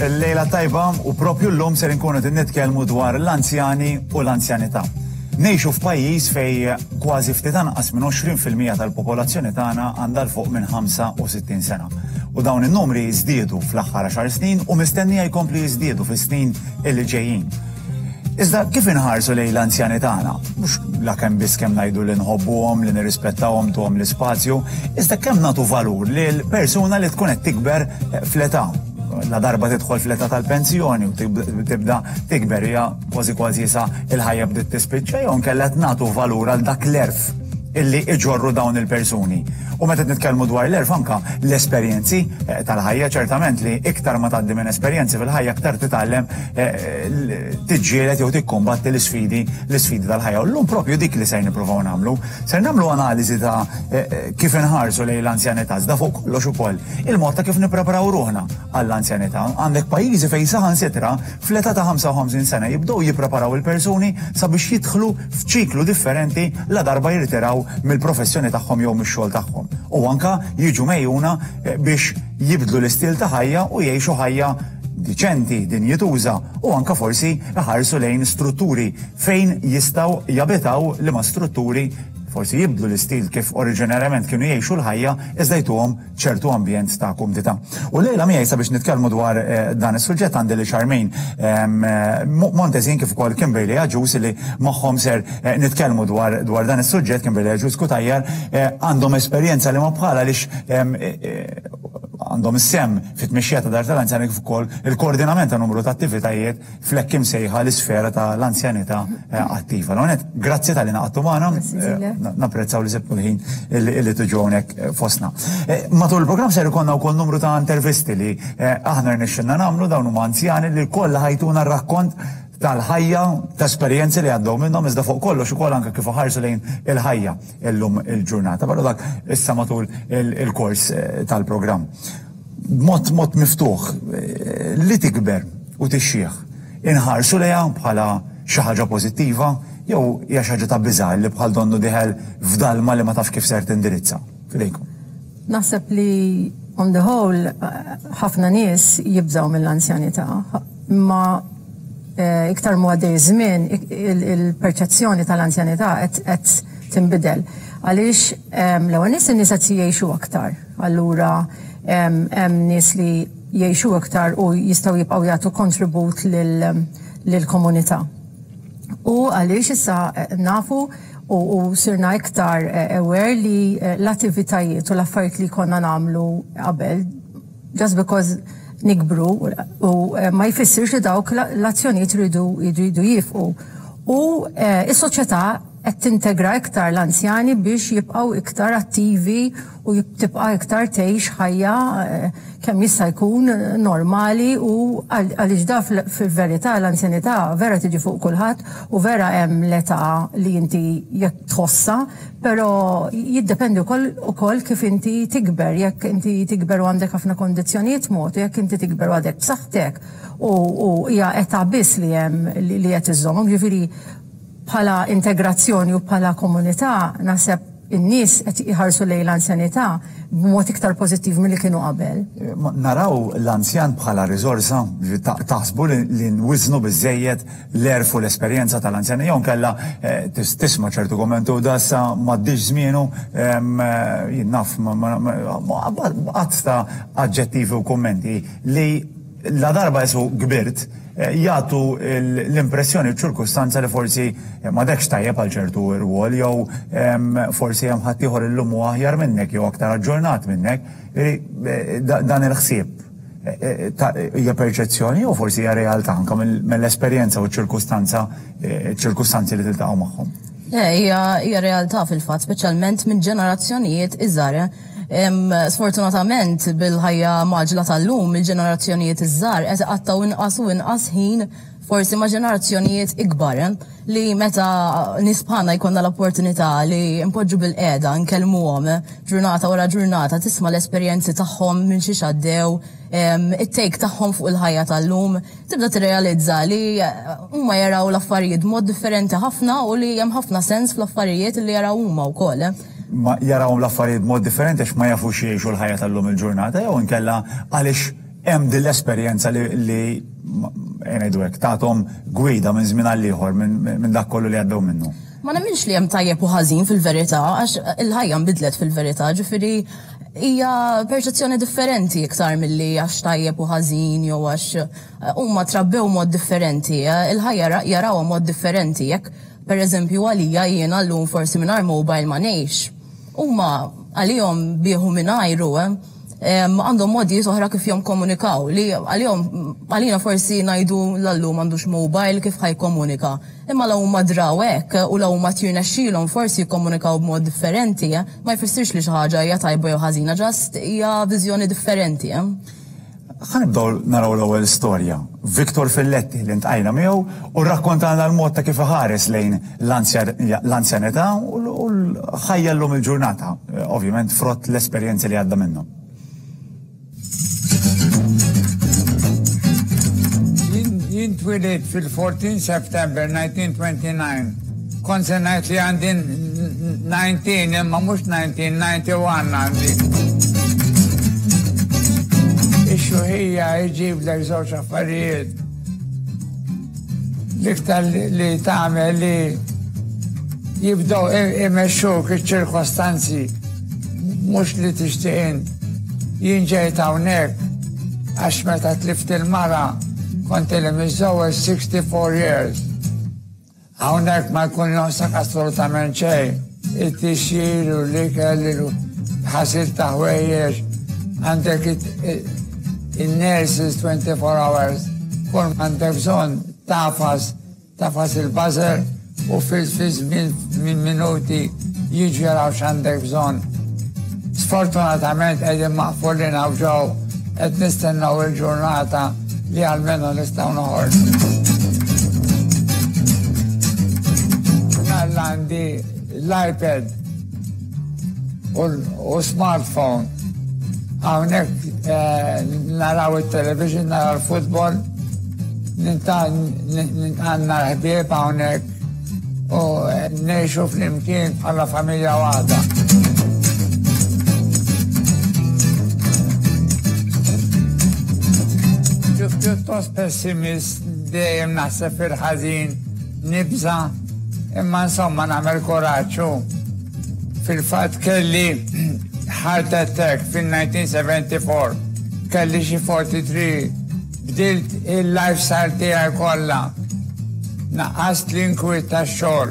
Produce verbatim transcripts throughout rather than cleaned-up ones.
Lejla tajba u propju llum ser inkunu qed nitkellmu dwar l-anzjani u l-anzjanità. Ngħixu f'pajjiż fejn kważi ftit anqas minn għoxrin fil-mija tal-popolazzjoni tagħna għandha 'l fuq minn ħamsa u sittin sena. U dawn in-numri żdiedu fl-aħħar għaxar snin u mistennija jkompli jiżdiedu fis-snin illi ġejjin. Iżda kif inħarsu lejn l-anzjani tagħna? Mhux la kemm biss kemm ngħidu li nħobbuhom, li nirrispettawhom, ntuhom l-ispazju, iżda kemm nagħtu valur lil persuna li tkun qed tikber fl-età, la darba tidħol fl-età tal-pensjoni u tibda tikber, hija kważi kważi sa il-ħajja bdiet tispiċċa, jew inkella qed nagħtu valur għal dak l-għerf illi iġorru dawn il-persuni? U meta nitkellmu dwar l-għerf, anka l-esperjenzi eh, tal-ħajja, ċertament li iktar ma tgħaddi minn esperjenzi fil-ħajja, iktar titgħallem eh, tiġġieled jew tikkombatti l-isfidi l-isfidi tal-ħajja. U llum propju dik li ser nippruvaw nagħmlu. Ser nagħmlu analiżi ta' eh, kif inħarsu lejn l-anzjanità, iżda fuq kollox ukoll il-mod ta' kif nippreparaw ruħna għall-anzjanità. Għandek pajjiżi fejn saħansitra fl-età ta' ħamsa u ħamsin sena jibdew jippreparaw il-persuni sabiex jidħlu f'ċiklu differenti la darba jirtiraw mill-professjoni tagħhom jew mix-xogħol tagħhom. U anka jiġu megħjuna eh, biex jibdlu l-istil ta' ħajja u jgħixu ħajja diċenti, dinjituża, u anka forsi ħarsu lejn strutturi fejn jistgħu jabitaw, li ma strutturi forsi jibdlu l-istil kif oriġinarjament kienu jgħixu l-ħajja, iżda jtuhom ċertu ambjent ta' kumdità. U lejla miegħi sabiex nitkellmu dwar eh, dan is-suġġett għandi lil Charmaine ehm, eh, Montesin kif ukoll Kimberly Agius, li magħhom ser eh, nitkellmu dwar dwar dan is-suġġett. Kimberly Agius Cutajar għandhom esperjenza li ma bħala, għaliex ehm, għandhom is-sehem fit-tmexxija ta' dar tal-anzjani kif ukoll il-koordinament ta' numru ta' attivitajiet fl-hekk imsejħa l-isfera ta' l-anzjanità attiva. L-għonet, grazzi talli ngħaqadtu magħna, napprezzaw li sibtu l-ħin illi tiġu hawnhekk fostna. Matul il-programm ser ikollna wkoll numru ta' intervisti li aħna rnexxilna nagħmlu. Dawn huma anzjani li kollha ħa jtuna rakkont tal-ħajja, ta' esperjenzi li għaddew minnhom, iżda fuq kollox ukoll anke kif ħarsu lejn il-ħajja illum il-ġurnata. Però dak issa matul il-kors tal-programm. Mod mod miftuħ, li tikber u tixjieħ, inħarsu lejha bħala xi ħaġa pożittiva jew hija xi ħaġa ta' biża' li bħal donnu dieħel f'dalma li ma tafx kif ser tindirizza? Fidejkom. Naħseb li on the whole ħafna nies jibżaw mill-anzjanità, imma iktar ma għaddej żmien, il-perċezzjoni tal-anzjanità qed tinbidel. Għaliex l-ewwel nies, in-nies qed jgħixu aktar. Allura hemm nies li jgħixu aktar u jistgħu jibqgħu jagħtu kontribut lill-komunità. U għaliex issa nafu u, u sirna iktar aware li l-attivitajiet u l-affarijiet li konna nagħmlu qabel, just because nikbru u ma jfissirx li dawk l-azzjonijiet ridu jridu jieqfu. U is-soċjetà qed tintegra iktar l-anzjani biex jibqgħu iktar attivi u tibqa' iktar tgħix ħajja kemm jista' jkun normali, u għaliex da fil-verità l-anzjanità vera tiġi fuq kulħadd u vera hemm l-età li inti jekk tħossa, però jiddependi wkoll ukoll kif inti tikber, jekk inti tikber u għandek ħafna kondizzjonijiet mod, jekk inti tikber u għadek b'saħħtek u hija età biss li hemm li qed iżżommok, ġifieri bħala integrazzjoni u bħala komunità naħseb in-nies qed iħarsu lejn l-anzjanità b'mod iktar pożittiv milli kienu qabel. Naraw l-anzjan bħala riżorsa? Taħsbu li nwiżnu biżejjed l-għerf u l-esperjenza tal-anzjan, jew kella tisma' ċertu kommentu, "Da issa m'għaddix żmienu", jien naf, għadd ta' aġġettivi u kummenti li la darba jesu kbirt jagħtu l-impressjoni, ċirkustanza li forsi m'għadekx tajjeb għal ċertu rwol jew forsi hemm ħaddieħor illum huwa aħjar minnek jew aktar aġġornat minnek. Dan il-ħsieb hija perċezzjoni jew forsi hija realtà anke mill-esperjenza u ċ-ċirkustanza ċirkustanzi li tiltaqgħu magħhom? Hija realtà fil-fatt, speċjalment minn ġenerazzjonijiet iżgħar. Sfortunatament, bil-ħajja mgħaġġla tal-lum, il-ġenerazzjonijiet iż-żgħar qed iqattgħu inqas u inqas ħin forsi ma' ġenerazzjonijiet ikbar, li meta nies bħalna jkollna l-opportunità li npoġġu bilqiegħda, nkellmuhom ġurnata wara ġurnata, tisma' l-esperjenzi tagħhom minn xiex għaddew, it-take tagħhom fuq il-ħajja tal-lum, tibda tirrealizza li huma jaraw l-affarijiet mod differenti ħafna u li hemm ħafna sens fl-affarijiet li jaraw huma wkoll. Ma jaraw l-affarijiet mod differenti għax ma jafux jgħixu l-ħajja tal-lum il-ġurnata jew inkella għaliex hemm din l-esperjenza li ngħidu hekk tagħthom gwida minn żmien għal ieħor minn dak kollu li għaddew minnu. Ma nemminx li hemm tajjeb u ħażin fil-verità, għax il-ħajja nbidlet fil-verità, ġifieri hija perċezzjoni differenti iktar milli għax tajjeb u ħażin jew għax huma trabbew mod differenti, il-ħajja jarawha mod differenti, jekk pereżempju għalija jiena llum forsi mingħajr mobile ma ngħix. Huma għalihom bieħu mingħajru, għandhom modi oħra kif jikkomunikaw li għalihom għalina forsi ngħidu l-allum m'għandux mobile kif ħa jikkomunika. Imma la huma draw hekk u la huma tirnexxielhom forsi jikkomunikaw b'mod differenti, ma jfissirx li xi ħaġa hija tajba jew ħażina, just hija viżjoni differenti. Ħa nibdew naraw l-ewwel storja. Victor Filletti li ltqajna miegħu u rrakkontana l-mod ta' kif iħares lejn l-anzjanità u l-ħajja llum il-ġurnata, ovvjament frott l-esperjenzi li għadda minnhom. Jien twilidt fil-fourteen September nineteen twenty-nine. Kont se ngħid li għandi nineteen, imma mhux nineteen, ninety-one għandi. Ix-xjuħija jġiblek żewġ affarijiet. L-iktar li tagħmel li jibdew imexxuk iċ-ċirkostanzi mhux li tixtieq int. Jien ġejt hawnhekk għax meta tlift il-mara kont ili miżżewweġ sixty-four years. Hawnhekk ma jkun jonqsok assolutament xejn. It-tixjir u l-ikel, il-ħasil ta' ħwejjeġ, għandek il-nurses twenty-four hours. Kull għandek bżonn tagħfas, tagħfas il-buzzer u fil-żmien minn minuti jiġu jaraw x'għandek bżonn. Sfortunatament qegħdin maqfulin hawn ġew, qed nistennew il-ġurnata li almenu nistgħu noħorġu. Għandi l-iPad u smartphone. Hawnhekk naraw il-television, naraw il-futbol, għandna l-ħbieb hawnhekk u ngħixu flimkien bħala familja waħda. Pjuttost pessimist, dejjem naħseb fil-ħażin, nibża, imma insomma nagħmel kuraġġ. Fil-fatt kelli heart attack fil-nineteen seventy-four, kelli xi forty-three, bdilt il-lifestyle tiegħi kollha. Naqqast l-inkwiet tax-xogħol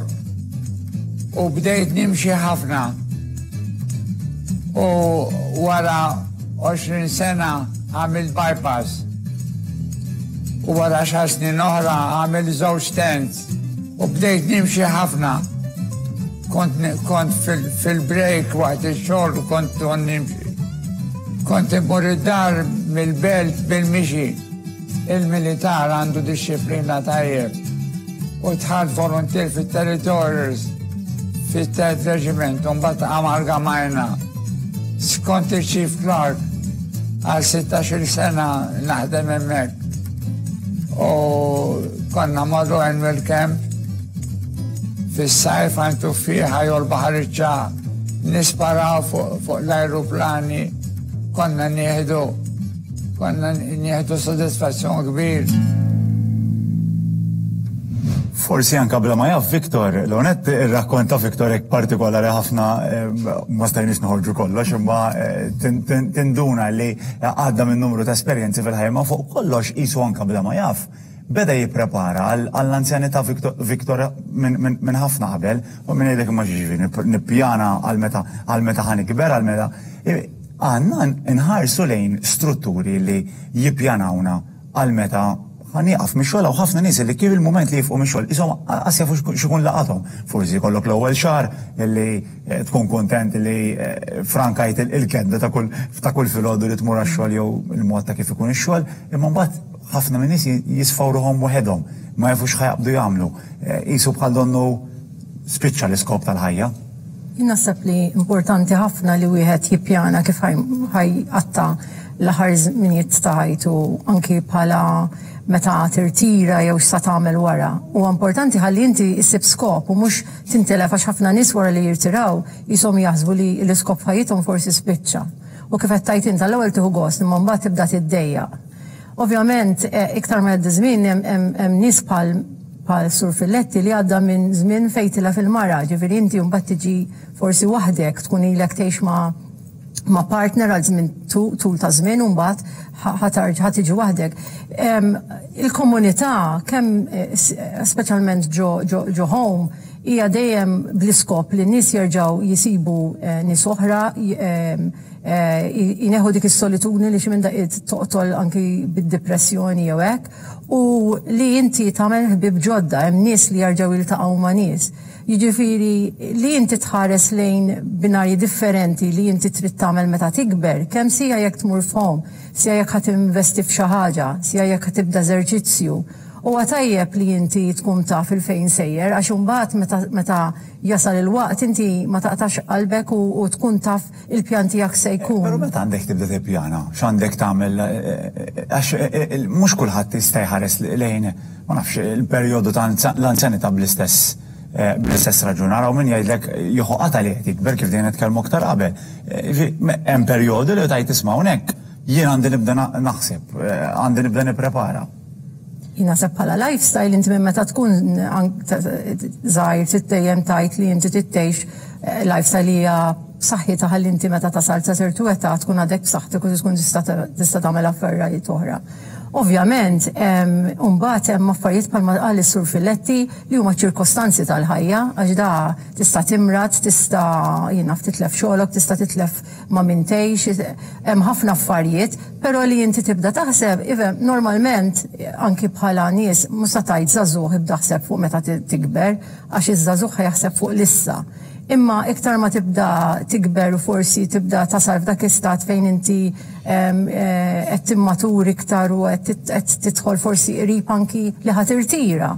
u bdejt nimxi ħafna. U wara għoxrin sena għamilt bypass. U wara xar snin oħra għamilt żewġ stents u bdejt nimxi ħafna. Kont, kont fil-break waqt ix-xogħol kont nimxi. Kont immur id-dar mill-belt bil-mixi. Il-militar għandu dixxiplina tajjeb. U dħalt volunteer fit-Territorials, fit-Third Regiment, u mbagħad amalgamajna. Kont il-Chief Clerk għal sittax-il sena naħdem hemmhekk. U konna morru annual camp fis-sajf għand Tuffieħa jew l-Baħar iċ-Ċagħaq, nisparaw fuq l-ajruplani, konna nieħdu konna nieħdu soddisfazzjon kbir. Forsi anka bla ma jaf Victor, l-onet irrakkonta Victor hekk partikolari ħafna, ma stajniex noħorġu kollox, imma tinduna li għadda minn numru ta' esperjenzi fil-ħajja, ma fuq kollox qisu anka bla ma jaf beda jipprepara għall-anzjanità Victor minn ħafna qabel, u minn jgħidlek ma ġifieri nippjana għal meta għal meta ħa nikber, għal meta għandna nħarsu lejn strutturi li jippjanawna għal meta ħa nieqaf mix-xogħol. U ħafna nies li kif il-mument li jieqfu mix-xogħol qishom qas jafu x'ikun laqathom. Forsi jkollok l-ewwel xahar li tkun kontent li frankajt il-kedda ta' kull ta' kull filgħodu li tmur għax-xogħol jew il-mod ta' kif ikun ix-xogħol, imma mbagħad Ħafna minn nies jisfaw ruħhom waħedhom, ma jafux x'ħa jaqbdu jagħmlu. Qisu bħal donnu spiċċa l-iskop tal-ħajja. Jien naħseb li importanti ħafna li wieħed jippjana kif ħa jqatta' l-aħħar żminijiet ta' ħajtu, anki bħala meta tirtira jew x'sa tagħmel wara. U importanti ħalli inti issib skop u mhux tintilef, għax ħafna nies wara li jirtiraw jisom jaħsbu li l-iskop ħajjithom forsi spiċċa. U kif qed tgħid int, l-ewwel tieħu gost, imma mbagħad tibda tiddejjaq. Ovvjament, eh, iktar ma jgħaddi żmien, hemm nies bħal bħal Sur Filletti li għadda minn żmien fejn tilef il-mara, ġifieri inti mbagħad tiġi forsi waħdek, tkun ilek tgħix ma' ma' partner għal żmien tul ta' żmien u mbagħad ħa tiġi waħdek. Il-komunità, kemm eh, speċjalment ġo, ġo, ġo home, hija dejjem bl-iskop li n-nies jerġgħu jisibu eh, nies oħra, eh, jneħħu dik is-solitudni li xi minn daqqiet toqtol anki bid-depressjoni jew hekk, u li inti tagħmel ħbib ġodda, hemm nies li jerġgħu jiltaqgħu ma' nies. Jiġifieri li inti tħares lejn binarji differenti li inti trid tagħmel meta tikber, kemm sija jekk tmur f'home, sija jekk ħa tinvesti f'xi ħaġa, sija jekk ħa tibda eżerċizzju. Huwa tajjeb li inti tkun taf il-fejn sejjer, għax imbagħad meta, meta jasal il-waqt inti ma taqtax qalbek u, u tkun taf il-pjan tiegħek se jkun. Però meta għandek tibda tippjana, x'għandek tagħmel, għax mhux kulħadd jista' jħares lejn, ma nafx, il-perjodu ta' l-anzjanità bl-istess bl-istess raġun. Araw min jgħidlek jieħu qata li qed jikber, kif dejjem nitkellmu aktar qabel. Hemm perjodu li tajt tisma' hawnhekk jien għandi nibda naħseb, għandi nibda nipprepara. Jien naħseb bħala lifestyle inti minn meta tkun żgħir trid dejjem tgħid li inti trid tgħix lifestyle li hija b'saħħitha, ħalli inti meta tasal ta' ċertu età tkun għadek b'saħħtek u tkun tista' tagħmel affarijiet oħra. Ovvjament, mbagħad hemm affarijiet bħalma qal is-Sur Filletti li huma ċirkostanzi tal-ħajja, għax da tista' timrad, tista' jien naf titlef xogħolok, tista' titlef ma' min tgħix, hemm ħafna affarijiet, però li inti tibda taħseb, ifhem, normalment anki bħala nies mhux se tgħid żagħżugħ ibda ħseb fuq meta tikber, għax iż-żagħżugħ jaħseb fuq l-issa. Imma iktar ma tibda tikber u forsi tibda tasal f'dak istat fejn inti qed timmatur iktar u qed tidħol forsi qrib anki li ħa tirtira,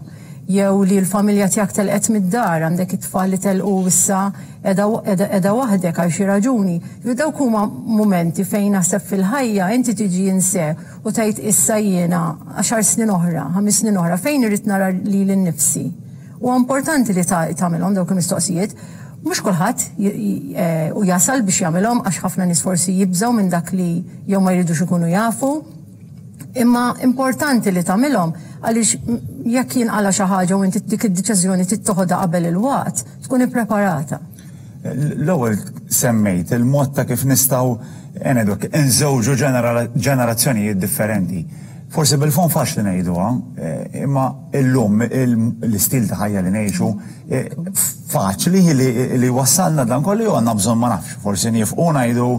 jew li l-familja tiegħek telqet mid-dar, għandek it-tfal li telqu, issa qiegħda waħdek għal xi raġuni. Dawk huma mumenti fejn naħseb fil-ħajja inti tiġi inse u tgħid, issa jiena għaxar snin oħra, ħames snin oħra, fejn irrid nara lili nnifsi? U importanti li tagħmilhom dawk il-mistoqsijiet. Mhux kulħadd eh, u jasal biex jagħmilhom, għax ħafna nies forsi jibżgħu minn dak li jew ma jridux ikunu jafu. Imma importanti li tagħmilhom, għaliex jekk jinqala xi ħaġa u inti dik id-deċiżjoni tittoħodha qabel il-waqt, tkun ippreparata. L-ewwel semmejt il-mod ta' kif nistgħu ngħidu nżewġu ġenerazzjonijiet differenti. Forsi bil-fon faċli ngħiduha, eh, imma illum l-istil ta' ħajja li ngħixu eh, faċli li wassalna dan kollu, jew għandna bżonn, ma nafx, forsi nifqu ngħidu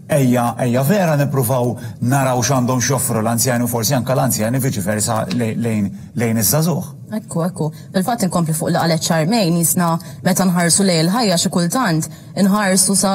ejja, ejja vera nippruvaw naraw x'għandhom x'joffru l-anzjani u forsi anke l-anzjani viċi versa lejn lejn iż-żagħżugħ? Ekku, ekku. Fil-fatt inkompli fuq li qalet Charmaine, jisna meta nħarsu lejn il-ħajja xi kultant inħarsu sa,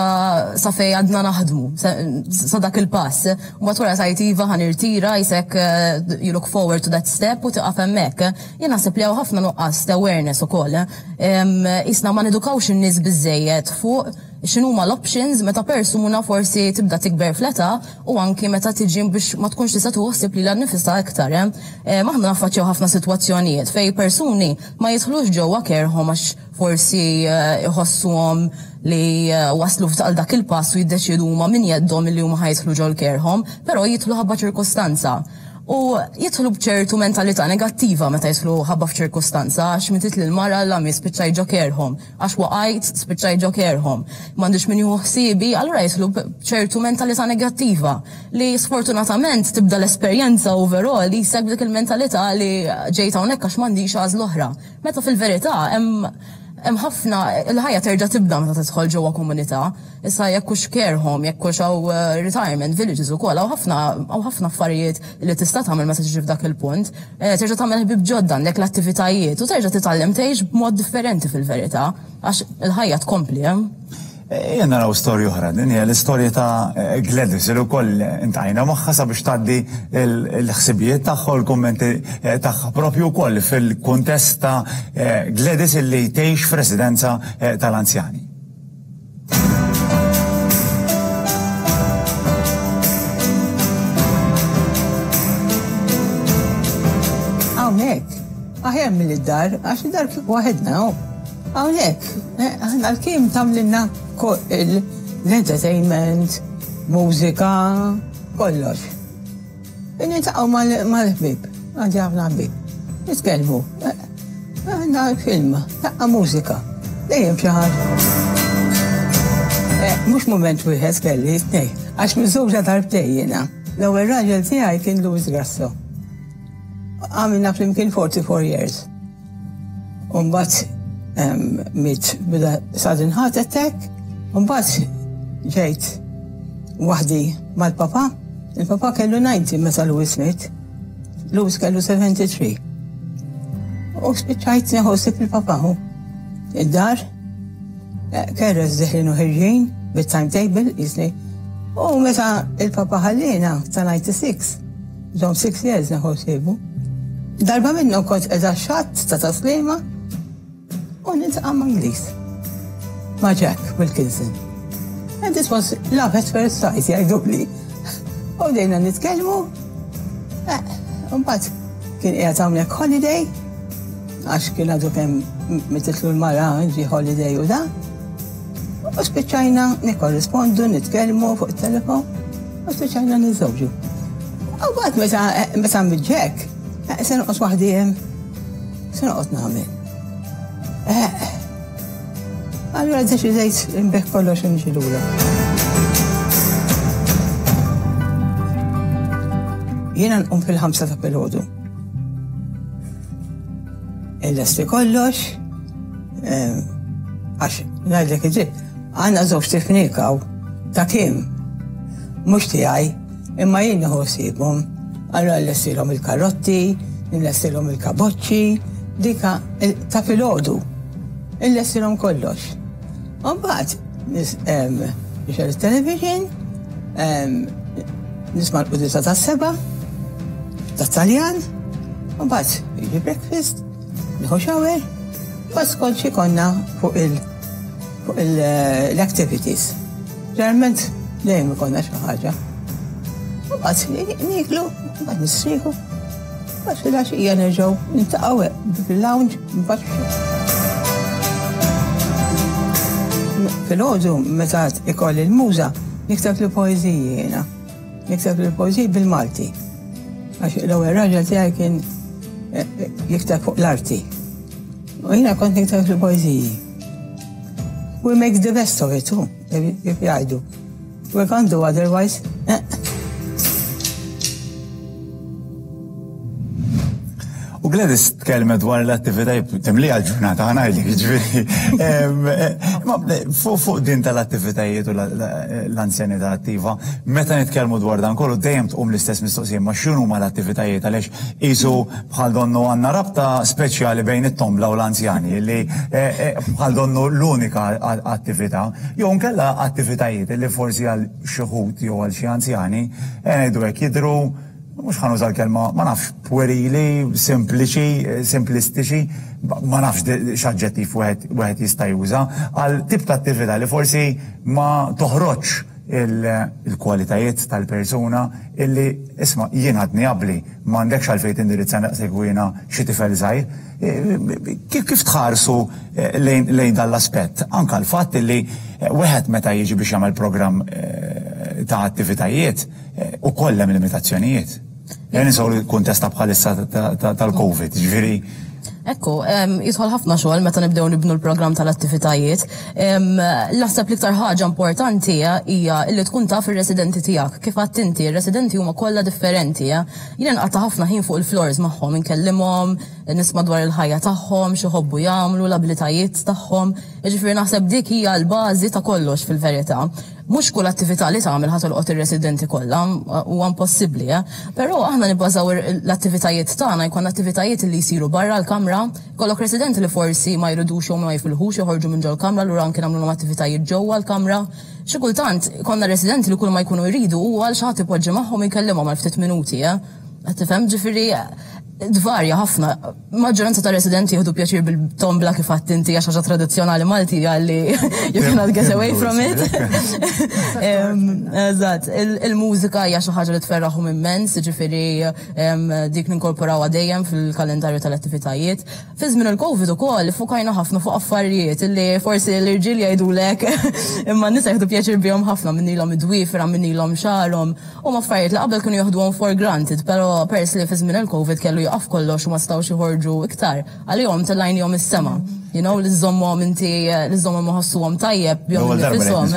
sa fej għadna naħdmu, sa, sa dak il-pass. U mbagħad wara tgħid, iva, ħa nirtira, jisek eh, you look forward to that step u tiqaf hemmhekk. Jien naħseb li hawn ħafna nuqqas ta' awareness ukoll. Jisna ma nedukawx in-nies biżejjed fuq x'inhuma l-options meta persuna forsi tibda tikber fl-età u anki meta tiġi biex ma tkunx tista' tuħsib lilha nnifisha iktar. Eh, Aħna naffaċċjaw ħafna sitwazzjonijiet fej persuni ma jidħlux ġewwa care home għax forsi eh, iħossuhom li eh, waslu f'tal dak il-pass u jiddeċidu huma minn jeddhom li huma ħa jidħlu ġol care home, però jidħlu ħabba ċirkostanza. U jidħlu bċertu mentalità negattiva meta jidħlu ħabba f'ċirkostanza, għax mietet l-mara la mi spiċċaj ġo care home, għax waqajt spiċċaj ġo care home, m'għandix min jieħu ħsiebi, allura jidħlu bċertu mentalità negattiva li sfortunatament tibda l-esperjenza overall li jseg dik il-mentalità li ġejt hawnhekk għax m'għandix għażla oħra. Meta fil-verità hemm hemm ħafna, il-ħajja terġa' tibda meta tidħol ġewwa komunità. Issa jekk hux care home, jekk hux hawn eh, retirement villages ukoll, hawn ħafna hawn ħafna affarijiet li tista' tagħmel meta tiġi f'dak il-punt. Eh, terġa' tagħmel ħbieb ġodda, għandek l-attivitajiet u terġa' titgħallem tgħix b'mod differenti fil-verità, għax il-ħajja tkompli hemm. Jien naraw storja oħra, din hija l-istorja ta' Gladys li wkoll iltqajna magħha sabiex tgħaddi l-ħsibijiet tagħha u l-kummenti tagħha propju wkoll fil-kuntest ta' Gladys illi tgħix f'residenza tal-anzjani. Hawnhekk, aħjar mill-dar, għax id-dar kieku waħedna. Hawnhekk, aħna l-Kim tagħmlilna l-entertainment, mużika, kollox. Niltaqgħu mal-ħbieb, għandi ħafna ħbieb. Nitkellmu, għandna film, taqqa' mużika, dejjem xi ħaġa. Mhux mument wieħed kelli, tnej, għax miżżewġa darbtejn jiena. L-ewwel raġel tiegħi kien Louis Grasso. Għamilna flimkien forty-four years. U mbagħad miet bida sudden heart attack, u mbagħad ġejt waħdi mal-papa. Il-papa kellu ninety meta Louis miet. Louis kellu seventy-three. U spiċċajt nieħu ħsieb il-papa hu. Id-dar, kerres deħlin u ħirġin bit-timetable jisni. U meta il-papa ħallina ta' ninety-six, ġom six years nieħu ħsiebu. Darba minnhom kont qiegħda xatt ta' Taslima u niltaqa' ma' Ingliż, ma' Jack Wilkinson. And this was love at first sight, jgħiduli. U bdejna nitkellmu, u mbagħad kien qiegħed hawnhekk holiday, għax kien għadu kemm mititlu l-mara ġi holiday u da. U spiċċajna nikkorrispondu, nitkellmu fuq it-telefon, u spiċċajna niżżewġu. U mbagħad meta meta miet Jack, se noqgħod waħdi hemm, se noqgħod nagħmel. Allura deċidejt nbigħ kollox u niġi lura. Jiena nqum fil-ħamsa ta' filgħodu. Illesti kollox, għax ngħidlek id-dritt, għandna żewġ tifnik hawn ta' Kim, mhux tiegħi, imma jien nieħu ħsiebhom. Allura nlestilhom il-karotti, nlestilhom il-kaboċċi, dika ta' filgħodu. Illestilhom kollox. U mbagħad nixgħel it-television, nisma' l-quddiesa tas-seba' tat-Taljan, u mbagħad jiġi breakfast, nieħu shower, mbagħad skont xi konna fuq il fuq l-activities. Ġeneralment dejjem ikollna xi ħaġa. U mbagħad nieklu, mbagħad nistrieħu, mbagħad filgħaxija nerġgħu niltaqgħu fil-lounge, mbagħad filgħodu meta ikolli l-muża nikteb li poeżiji jiena. Nikteb li poeżiji bil-Malti. Għax l-ewwel raġel tiegħi kien jikteb fuq l-arti. U jiena kont nikteb li poeżiji. We make the best of it, too, kif jgħidu. We can't do otherwise. U Gladys tkellmet dwar l-attivitajiet, timlija l-ġurnata, ħa ngħidlek, jiġifieri. Ma fuq din tal-attivitajiet u l-anzjanità attiva, meta nitkellmu dwar dan kollu dejjem tqum l-istess mistoqsija, ma x'inhuma l-attivitajiet għaliex qisu bħal donnu għandna rabta speċjali bejn it-tombla u l-anzjani li bħal donnu l-unika attività, jew nkella attivitajiet li forsi għal xi wħud jew għal xi anzjani ngħidu hekk jidhru mhux ħa nuża l-kelma, ma nafx, puerili, sempliċi, simplistiċi, ma nafx x'aġġettiv wieħed jista' juża għal tip ta' attività li forsi ma toħroġx il-kwalitajiet tal-persuna illi isma' jien għadni abbli, m'għandekx għalfejn tindirizza naqsek u jiena xi tifel żgħir. Kif tħarsu lejn dan l-aspett? Anka l-fatt illi wieħed meta jiġi biex jagħmel programm ta' attivitajiet u kollha hemm limitazzjonijiet. Jien nisaw l-kuntest ta' bħalissa tal-Covid, ġifieri. Ekku, jidħol ħafna xogħol meta nibdew nibnu l-programm tal-attivitajiet. Naħseb l-iktar ħaġa importanti hija li tkun taf ir-residenti tiegħek. Kif għedt inti, ir-residenti huma kollha differenti. Jiena nqatta' ħafna ħin fuq il-floors magħhom, inkellimhom, nisma' dwar il-ħajja tagħhom, x'iħobbu jagħmlu, l-abilitajiet tagħhom. Jiġifieri naħseb dik hija l-bażi ta' kollox fil-verità. Mhux kull attività li tagħmel ħa tolqot ir-residenti kollha, huwa impossibbli, eh? Però aħna nibbażaw l-attivitajiet tagħna jkun attivitajiet li jsiru barra l-kamra, kollok residenti li forsi ma jridux jew ma jifilħux joħorġu minn ġol-kamra, allura anke nagħmluhom attivitajiet ġewwa l-kamra. Xi kultant konna residenti li kull ma jkunu jridu huwa għal xi ħadd ipoġġi magħhom jkellimhom għal ftit minuti, eh? Tifhem ġifieri tvarja ħafna. Maġġoranza ta' residenti jieħdu pjaċir bil-tombla kif għedt inti għax ħaġa tradizzjonali Malti għalli you cannot get away from it. Eżatt, il-mużika hija xi ħaġa li tferraħhom immens, ġifieri dik ninkorporawha dejjem fil-kalendarju tal-attivitajiet. Fi żmien il-Covid ukoll fukajna ħafna fuq affarijiet illi forsi l-irġiel jgħidulek imma n-nisa jieħdu pjaċir bihom ħafna minnilhom id-dwifra, minnilhom xagħarhom u affarijiet li qabel kienu jieħduhom for granted, però pers li fi żmien il-Covid kellu jaqaf kollox u ma stawx joħorġu iktar. Għalihom tellajnihom is-sema. You know, li żżommhom inti, li żżommhom iħossuhom tajjeb bihom nifisom.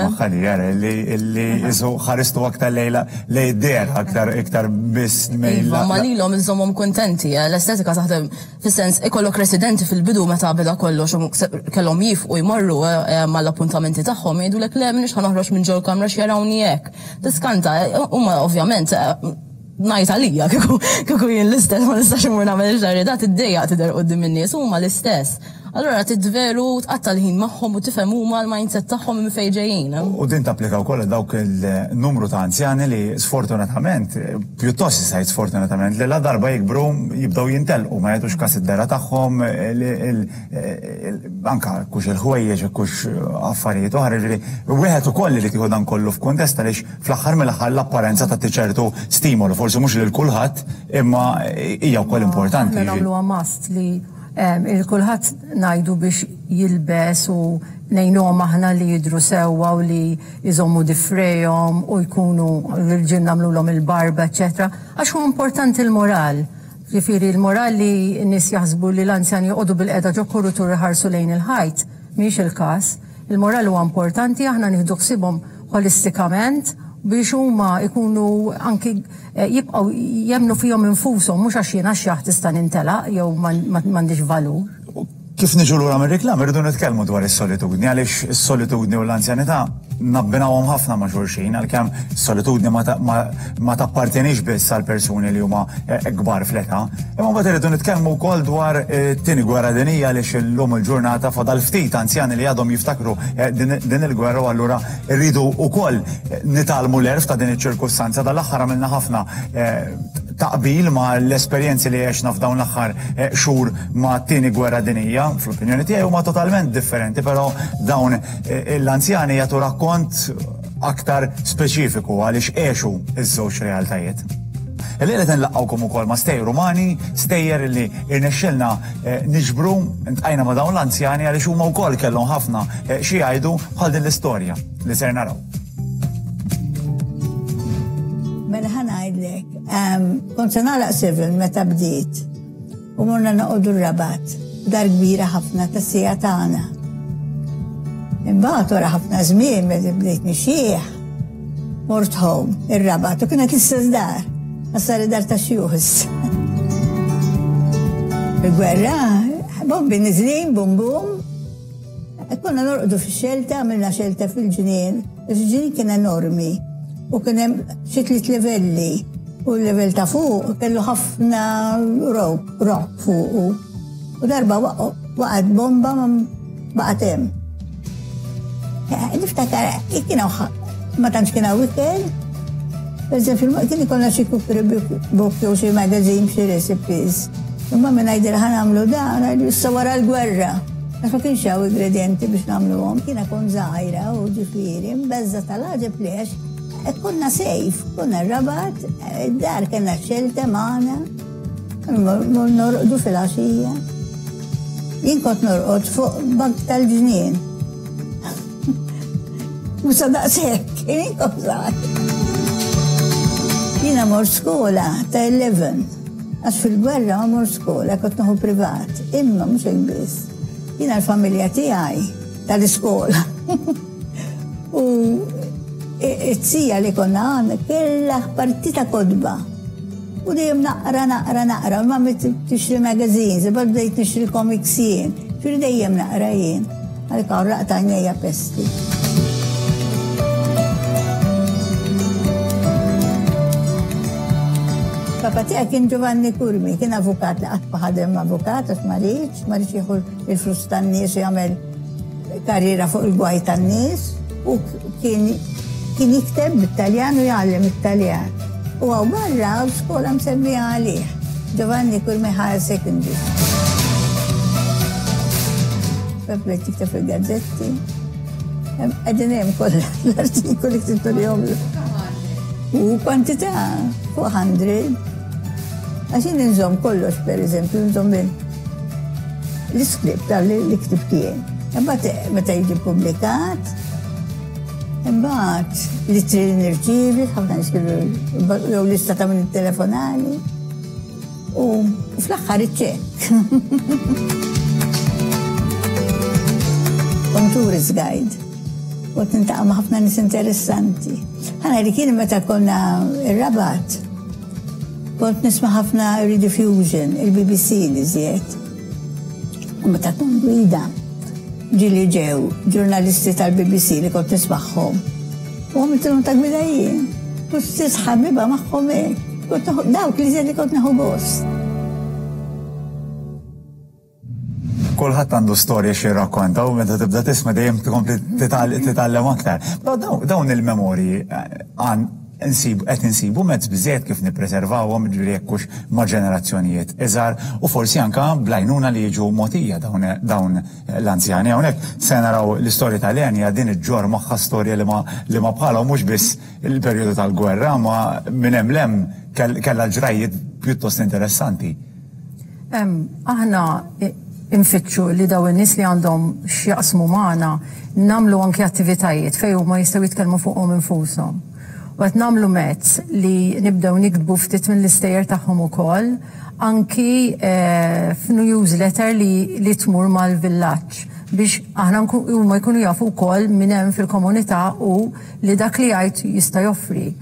Li li jisu ħaristu aktar lejla lej der aktar iktar biss mejla. Ma lilhom iżommhom kontenti, l-estetika taħdem fis-sens ikollok residenti fil-bidu meta beda kollox u kellhom jifqu jmorru mal-appuntamenti tagħhom jgħidulek le m'iniex ħa noħroġ minn ġol kamra x'jarawni hekk. Tiskanta, huma ovvjament ngħid għalija, kieku jien l-istess ma nistax imur nagħmel xagħri da tiddejjaq tidher quddiem in-nies huma l-istess. Allora tidveru tqatta' l-ħin magħhom u tifhem huma l-mindset tagħhom minn fejn ġejjin. U din tapplika wkoll dawk il-numru ta' anzjani li sfortunatament, pjuttost jista' sfortunatament, li la darba jikbru jibdew jintelqu ma jagħtux kas id-dehra tagħhom, anka kux il-ħwejjeġ, kux affarijiet oħra, ġifieri wieħed ukoll li tieħu dan kollu f'kuntest għaliex fl-aħħar mill-aħħar l-apparenza tagħti ċertu stimolu, forsi mhux lil kulħadd, imma hija wkoll importanti. Aħna nagħmluha must li il-kulħadd ngħidu biex jilbes u ngħinuhom aħna li jidru sewwa u li jżommu difrejhom u jkunu l-irġiel nagħmluhom il-barba, eċetera. Għax huwa importanti l-moral. Ġifieri l-moral li n-nies jaħsbu li l-anzjani joqogħdu bil-qeda ġo kuritur iħarsu lejn il-ħajt, mhix il-każ. Il-moral huwa importanti, aħna nieħdu ħsiebhom holistikament biex huma ikunu anki jibqgħu jemnu fihom infushom mhux għax jiena xjaħ tista' nintelaq jew m'għandix valur. Kif niġu lura mir-reklam irridu nitkellmu dwar is-solitudni għaliex is-solitudni u l-anzjanità nabbinawhom ħafna ma' xulxin għalkemm is-solitudni ma tappartenix biss għal persuni li huma kbar fl-età. Imma mbagħad irridu nitkellmu wkoll dwar it-tieni gwerra dinjija għaliex illum il-ġurnata fadal ftit anzjani li għadhom jiftakru din il-gwerra u allura rridu wkoll nitgħallmu l-għerf ta' din iċ-ċirkustanza. Dal-aħħar għamilna ħafna taqbil ma' l-esperjenzi li għexna f'dawn l-aħħar xhur ma' t-tieni gwerra dinjija, fl-opinjoni tiegħi huma totalment differenti, però dawn l-anzjani jagħtu rakkont aktar speċifiku għaliex għexu iż-żewġ realtajiet. Illejla qed nlaqqgħukom ukoll ma' stejjer umani, stejjer li irnexxilna niġbru ntqajna ma' dawn l-anzjani għaliex huma wkoll kellhom ħafna xi jgħidu bħal din l-istorja li ser naraw. Mela ħa ngħidlek, kont se nagħlaq civil meta bdiet u morna noqogħdu r-Rabat, dar kbira ħafna tas-sija tagħna. Imbagħad wara ħafna żmien meta bdejt nixjieħ, mort home ir-Rabat u kienet l-istess dar, għax dar ta' xjuħ issa. Il-gwerra, bombi niżlin, bum bum. Konna norqdu fix-xelta, għamilna xelta fil-ġnien, il-ġnien kien enormi u kien hemm xi tliet livelli u l-level ta' fuq kellu ħafna rock, rock fuqu. U darba waqgħet bomba ma baqgħet hemm. Niftakar, kien hawn ma tantx kien hawn ikel. Per eżempju, kien ikollna xi cookery book jew xi magazine xi recipes. Imma minn ngħidilha ħa nagħmlu dan, ngħidu issa wara l-gwerra. Għax ma kienx hawn ingredienti biex nagħmluhom. Kiena kont żgħira u ġifieri, mbeżża tal-għaġeb lex. Konna safe, konna r-Rabat, id-dar kellna xelta magħna, norqdu fil-għaxija. Jien kont norqod fuq bank tal-ġnien. Mhux daqshekk, jien kont żgħir. Jiena mort skola ta' eleven, għax fil-gwerra ma mort skola, kont nieħu privat, imma mhux hekk biss. Jiena l-familja tiegħi tal-iskola. U it-sija li konna għandna kellha partita kotba. U dejjem naqra, naqra, naqra, u mammi tixtri magazines, imbagħad bdejt nixtri comics jien, ġifieri dejjem naqra jien. Għalhekk hawn raqta għajnejja pesti. Il-papa tiegħi kien Giovanni Curmi, kien avukat li qatt ma ħadem avukat għax ma riedx, ma riedx jieħu il-flus tan-nies u jagħmel karriera fuq il-gwaj tan-nies u kien kien jikteb bit-Taljan u jgħallem it-Taljan. U hawn barra skola msemmija għalih, Giovanni Curmi Higher Secondary. Bdejt tikteb fil-gazzetti. Qegħdin hemm kollha l-artikoli ktibtu li jomlu. U kwantità, fuq mija. Għax jien nżomm kollox, per eżempju, nżomm l-iskript tal-li ktibt jien. Imbagħad meta jiġi publikat, imbagħad l-ittri li nirċievi, ħafna niskrivu jew lista ta' minn telefonali. U fl-aħħar iċ-ċekk. Kont tourist guide. Kont niltaqa' ma' ħafna nies interessanti. Ħana li kien meta konna ir-Rabat, kont nisma' ħafna Rediffusion, il-B B C li żjed. U meta kont gwida, ġieli ġew ġurnalisti tal-B B C li kont nismagħhom. U għamiltilhom ta' gwida jien. U stess ħabiba magħhom hekk. Kont dawk li żjed li kont nieħu gost. Kulħadd għandu storja xi rrakkonta u meta tibda tisma' dejjem tkompli titgħallem aktar. Però dawn il-memorji għan qed insibu mezz biżejjed kif nippreservawhom, ġifieri jekk hux ma' ġenerazzjonijiet iżgħar u forsi anke bl-għajnuna li jiġu mogħtija dawn l-anzjani. Hawnhekk se naraw l-istorja ta' Lenja din iġġorr magħha storja li ma li ma bħalha, mhux biss il-perjodu tal-gwerra, ma minn hemm 'l hemm kellha ġrajjiet pjuttost interessanti. Aħna infittxu li daw in-nies li għandhom x'jaqsmu magħna nagħmlu anke attivitajiet fejn huma jistgħu jitkellmu fuqhom infushom. U qed nagħmlu mezz li nibdew nikdbu ftit mill-istejjer tagħhom ukoll, anki f'newsletter li, li tmur mal-villaġġ biex aħna huma jkunu jafu wkoll min hemm fil-komunità u li dak li jgħid jista' joffri.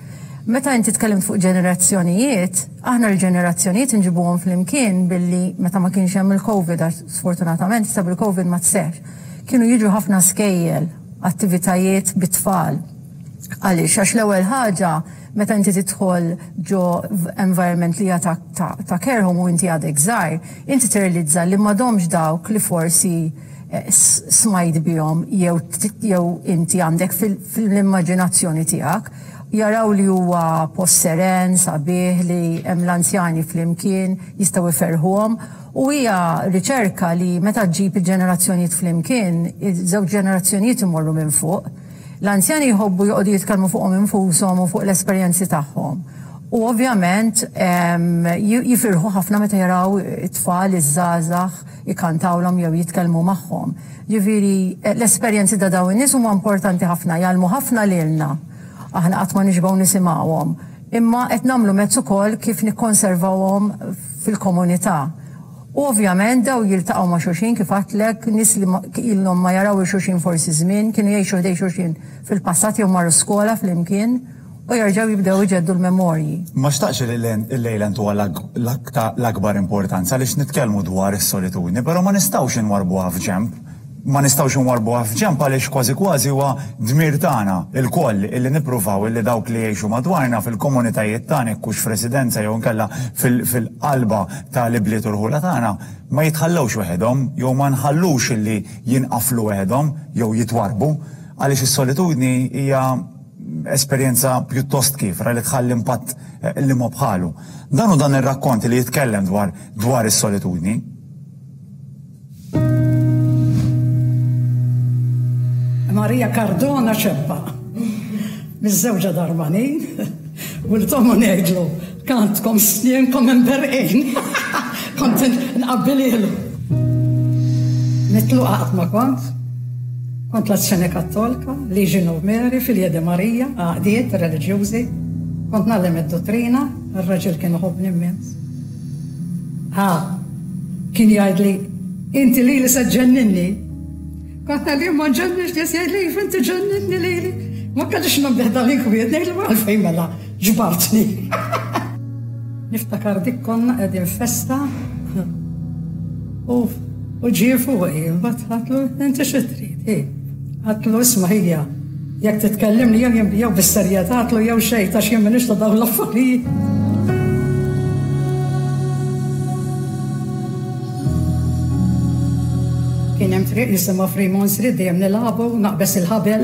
Meta inti tkellimt fuq ġenerazzjonijiet, aħna l-ġenerazzjonijiet nġibuhom flimkien billi meta ma kienx hemm il-Covid, għax sfortunatament issa bil-Covid ma tseħx, kienu jiġu ħafna skejjel, attivitajiet bit-tfal. Għaliex, għax l-ewwel ħaġa, meta inti tidħol ġo environment li hija ta', ta, ta' care home u inti għadek żgħir, inti tirrealizza li m'għadhomx dawk li forsi eh, smajt bihom jew jew inti għandek fil-immaġinazzjoni tiegħek, jaraw li huwa post seren, sabiħ, li hemm l-anzjani flimkien, jistgħu jferħuhom. U hija riċerka li meta ġġib il-ġenerazzjonijiet flimkien, iż-żewġ ġenerazzjonijiet imorru minn fuq. L-anzjani jħobbu joqogħdu jitkellmu fuqhom infushom u fuq l-esperjenzi tagħhom. U ovvjament jifirħu ħafna meta jaraw it-tfal, iż-żgħażagħ ikantawlhom jew jitkellmu magħhom. Ġifieri l-esperjenzi ta' dawn in-nies huma importanti ħafna, jgħallmu ħafna lilna. Aħna qatt ma nixbgħu nisimgħuhom. Imma qed nagħmlu mezz ukoll kif nikkonservawhom fil-komunità. U ovvjament daw jiltaqgħu ma' xulxin, kif għedtlek, nies li ilhom ma jaraw xulxin forsi żmien, kienu jgħixu ħdejn xulxin fil-passat jew marru skola flimkien u jerġgħu jibdew iġeddu l-memorji. Ma xtaqx li l-lejla ntuha l-akbar importanza għaliex nitkellmu dwar is-solitudni, però ma nistgħux inwarbuha f'ġemp. Ma nistgħux inwarbuha f'ġemp għaliex kważi kważi huwa dmir tagħna ilkoll illi nippruvaw illi dawk li jgħixu madwarna fil-komunitajiet tagħna, jekk hux f'residenza jew inkella fil-qalba tal-ibliet u l-ħula tagħna, ma jitħallewx waħedhom jew ma nħallux illi jinqaflu waħedhom jew jitwarbu, għaliex is-solitudni hija esperjenza pjuttost kiefra li tħalli impatt li ma bħalu. Dan hu dan ir-rakkont li jitkellem dwar dwar is-solitudni. Maria Cardona Ċeppa, miż-żewġa Darmanin, u l-tomu ngħidlu, kantkom snienkom imberqin. Kont nqabbililu. Mitluqa qatt ma kont. Kont l-Azzjoni Kattolika, Legion of Mary, Filja de Maria, għaqdiet reliġjużi. Kont ngħallem id-dottrina, ir-raġel kien iħobbni immens. Ha, kien jgħidli, inti lili se ġenninni. Kont ngħidli ma ġenninx, nies jgħidli, inti ġenninni lili. Ma kellix nabdeħ dal-inkwiet, ngħidlu għalfejn mela ġbartni. Niftakar dik konna qegħdin festa u u ġie fuqi, mbagħad għedtlu inti xi trid, hi. Għedtlu isma' ħija, jekk titkellimni jew jew bis-serjetà, għedtlu jew xejn, għax jien m'iniex ta' dawn l-affarijiet. triq jisimha Fremont Street, dejjem nilagħbu, naqbeż il-ħabel.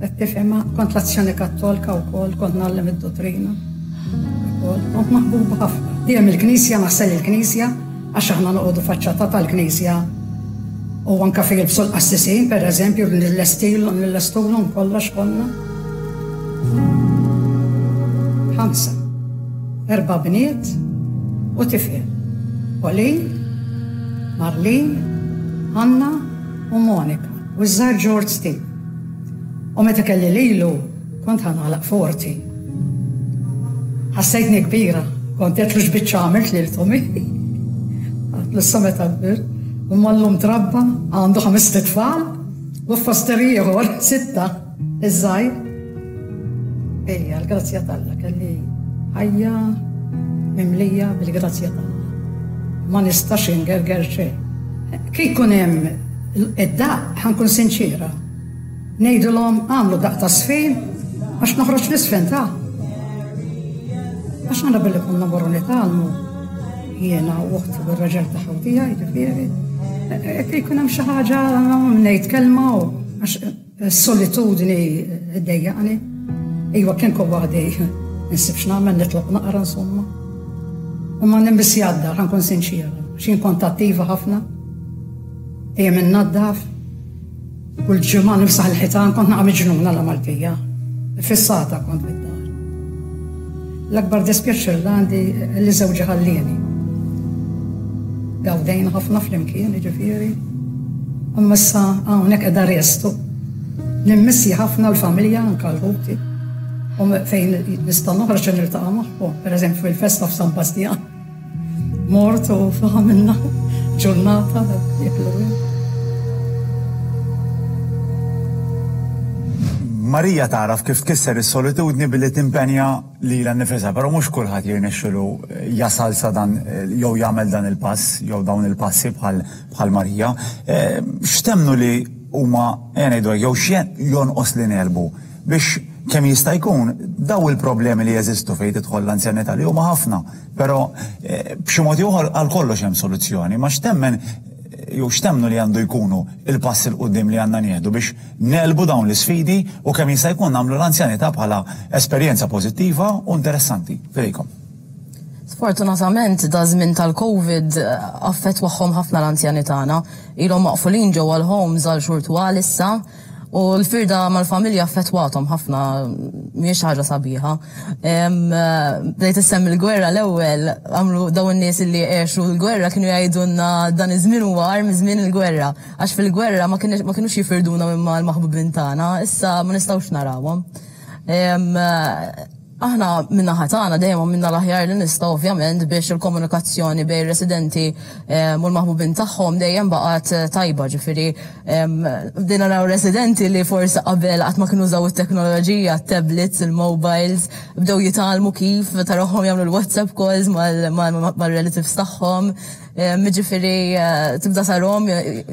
Qed tifhem, kont l-Azzjoni Kattolika wkoll, kont ngħallem id-dottrina. Kont maħbuba ħafna. Dejjem il-knisja, naħsel il-knisja, għax aħna noqogħdu faċċata tal-knisja. U anka fejn jilbsu l-qassisin, per eżempju, nillestulhom kollox konna. Ħamsa. Erba' bniet u tifel. Pauline, Marlene, Anna u Monika. U ż-żgħar George Steve. U meta kelli lilu, kont ħa nagħlaq forty. Ħassejtni kbira, kont għedtlu x'biċċa għamilt lil Tommy. Għedtlu issa meta kbir. U mallum trabba, għandu ħames tfal, u foster ieħor, sitta, iż-żgħir. Ejja, l-grazzja t'Alla, kelli ħajja mimlija bil-grazzja t'Alla. Ma nistax ingerger xejn. Kif ikun hemm id-daq, ħa nkun sinċira. Ngħidulhom għamlu daq ta' sfin għax noħroġ nisfen ta'. Għax għana billi konna morru nitgħallmu jiena u uħti u r-raġel ta' ħawtija, jiġifieri. Kif ikun hemm xi ħaġa ngħid kelma u għax s-solitudni ddejjaqni. Iwa kien kun waħdi nsib x'nagħmel, nitlob naqra insomma. U ma nimbis jadda, ħa nkun sinċira. X'jien kont attiva ħafna. Dejjem innaddaf. Kull ġimgħa nimsaħ il-ħitan, kont naqa' miġnuna la Maltija. Fissata kont bid-dar. L-akbar dispjaċir li għandi li żewġi ħallieni. Gawdejna ħafna flimkien, jiġifieri. Imma issa hawnhekk qiegħda restu. Nimmissi ħafna l-familja anke l-ħuti. U fejn nista' noħroġ niltaqa' magħhom, pereżempju fil-festa f'San Bastian. Mort u għamilna ġurnata jeklu. Marija tagħraf kif tkisser is-solitudni billi timpenja lilha nnifisha, però mhux kulħadd jirnexxilu jasal sa dan jew jagħmel dan il-pass jew dawn il-passi bħal bħal Marija. X'temnu li huma ngħidu jew x'jen jonqos li nerbu biex kemm jista' jkun daw il-problemi li jeżistu fejn tidħol l-anzjanità li huma ħafna, però b'xi mod ieħor għal kollox hemm soluzzjoni, ma x'temmen jew x'temnu li għandu jkunu il-pass il quddiem li għandna nieħdu biex nelbu dawn l-isfidi u kemm jista' jkun nagħmlu l-anzjanità bħala esperjenza pożittiva u interessanti. Fidejkom. Sfortunatament da żmien tal-Covid affettwahom ħafna l-anzjani tagħna. Ilhom maqfulin ġewwa l-homes għal xhur twal issa. U l-firda mal-familja affettwathom ħafna, mhijiex ħaġa sabiħa. Bdejt issemmi l-gwerra l-ewwel, għamlu dawn in-nies li għexu l-gwerra kienu jgħidulna dan iż-żmien huwa agħar minn żmien il-gwerra. Għax fil-gwerra ma kinux jifirduna minn mal-maħbubin tagħna, issa ma nistgħux narawhom. Aħna minna tagħna dejjem għamilna l-aħjar li nistgħu ovvjament biex il-komunikazzjoni bejn residenti u l-maħbubin tagħhom dejjem baqgħet tajba, ġifieri bdejna naraw residenti li forsi qabel qatt ma kienu użaw it-teknoloġija, tablets, il-mobiles, bdew jitgħallmu kif tarawhom jagħmlu l-WhatsApp calls mal-relatives tagħhom. Ġifieri tibda tarahom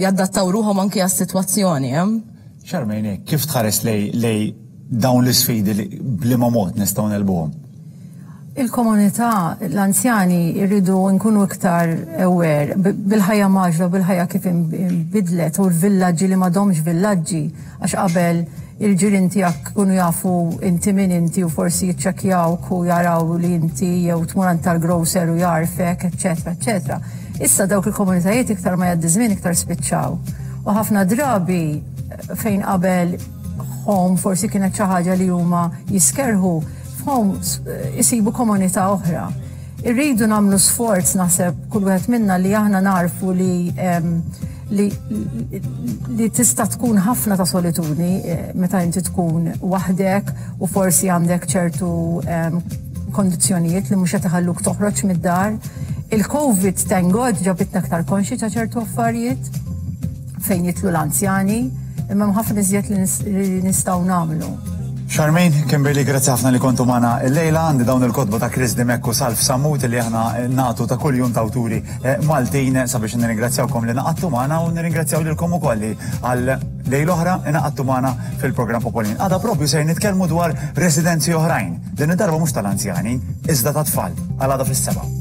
jadattaw ruħhom anke għas-sitwazzjoni. Charmaine, kif tħares lej dawn l-isfidi li b'liema mod nistgħu nelbuhom? Il-komunità, l-anzjani jridu nkunu iktar aware bil-ħajja maġla, bil-ħajja kif inbidlet u l-villaġġi li m'għadhomx villaġġi, għax qabel il-ġirien tiegħek kunu jafu inti min inti u forsi jiċċekkjawk u jaraw li inti jew tmur għand tal-grocer u jarfek, eċċetera, eċċetera. Issa dawk il-komunitajiet iktar ma jgħaddi żmien iktar spiċċaw. U ħafna drabi fejn qabel home forsi kienet xi ħaġa li huma jiskerħu, f'home isibu komunità oħra. Irridu nagħmlu sforz naħseb kull wieħed minna li aħna narfu li, li, li tista' tkun ħafna ta' solitudni meta inti tkun waħdek u forsi għandek ċertu kondizzjonijiet li mhux qed iħalluk toħroġ mid-dar. Il-Covid, thank God, ġabitna aktar konxi ta' ċertu affarijiet fejn jitlu l-anzjani, imma hemm ħafna iżjed li nistgħu nagħmlu. Charmaine, Kimberly, grazzi ħafna li kontu magħna illejla. Għandi dawn il-kotba ta' Chris Dimech u Salv Sammut li aħna nagħtu ta' kuljum ta' awturi Maltin sabiex nirringrazzjawkom li naqattu magħna u nirringrazzjaw lilkom ukoll li għal lejl oħra naqattu magħna fil-programm Popolin. Għada propju se nitkellmu dwar residenzi oħrajn, din id-darba mhux tal-anzjani, iżda ta' tfal, għal għada fis-sebgħa.